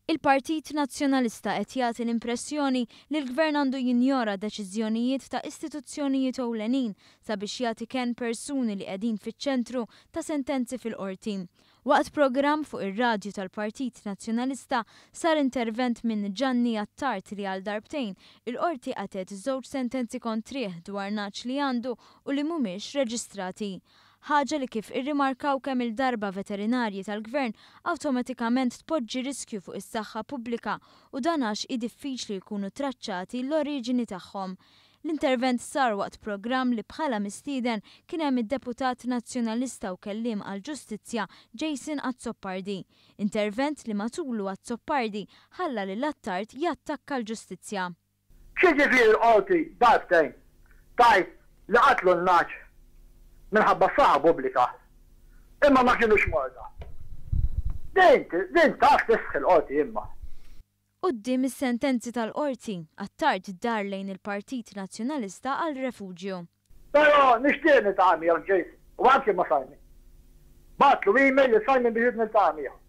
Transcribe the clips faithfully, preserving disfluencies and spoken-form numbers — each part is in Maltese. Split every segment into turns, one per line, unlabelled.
Il-Partit Nazzjonalista qed jagħti l-impressjoni li l-Gvern għandu jinjora deċiżjonijiet ta' istituzzjonijiet ewlenin sabiex jagħti kenn persuni li qegħdin fiċ-ċentru ta' sentenzi fil-qorti. Waqt programm fuq ir-radju tal-Partit Nazzjonalista sar intervent minn Gianni Attard li għal darbtejn il-qorti qatgħet żewġ sentenzi kontrih dwar nagħaġ li għandu u li mhumiex reġistrati. Ħaġa li kif irrimarkaw kemm il-darba veterinarji tal-gvern awtomatikament tpoġġi riskju fuq is-saħħa pubblika u dan għax hi diffiċli jkunu traċċati l-oriġini tagħhom. L-intervent sar waqt programm li bħala mistieden kien hemm id-deputat nazzjonalista u kelliem għall-ġustizzja Jason Azzopardi. Intervent li matulu Azzopardi ħalla lil Attard jattakka l-ġustizzja.
X'jiġifieri l-qorti darbtejn tgħid li qatlu n-nagħaġ minħabba s-saħħa pubblika, imma ma kinux morda? Din, din taf tistħi l-qorti imma.
Quddiem is-sentenzi tal-qorti, Attard dar lejn il-Partit Nazzjonalista għal refuġju.
Però nixtieq niltaqa' miegħek, Jason, u anke ma' Simon. Bgħattlu email lil Simon biex niltaqa' miegħu.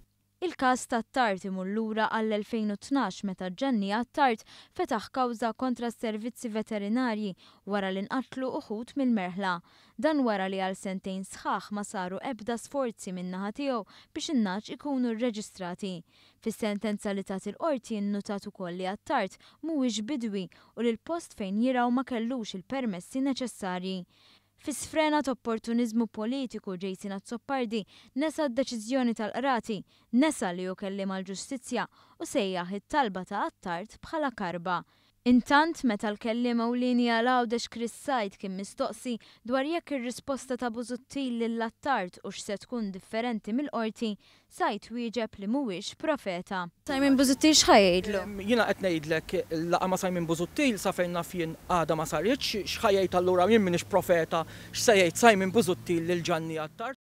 Il-każ ta' Attard imur lura għall-elfejn u tnax meta Gianni Attard fetaħ kawża kontra s-servizzi veterinarji wara li nqatlu uħud mill-merħla. Dan wara li għal sentejn sħaħ ma saru ebda sforzi min-naħa tiegħu biex in-nagħaġ ikunu rreġistrati. Fis-sentenza li tat il-qorti nnutat ukoll li Attard mhuwiex bidwi u li l-post fejn jirgħu ma kellux il-permessi neċessarji. Fi sfrenat opportunizmu politiku Jason Azzopardi nesa d-deċiżjoni tal-qrati, nesa li hu kelliem għall-ġustizzja u sejjaħ it-talba ta' Attard bħala karba. Intant, meta l-kelliem ewlieni għal Għawdex Chris Said kien mistoqsi dwar jekk ir-risposta ta' Busuttil lil Attard u x'se tkun differenti mill-qorti, Said wieġeb li mhuwiex profeta. Simon Busuttil x'ħa jgħidlu?
Jiena qed ngħidlek laqgħa ma' Simon Busuttil sa fejn naf jien għadha ma saritx, x'ħa jgħid allura jien m'iniex profeta x'se jgħid Simon Busuttil lil Gianni Attard.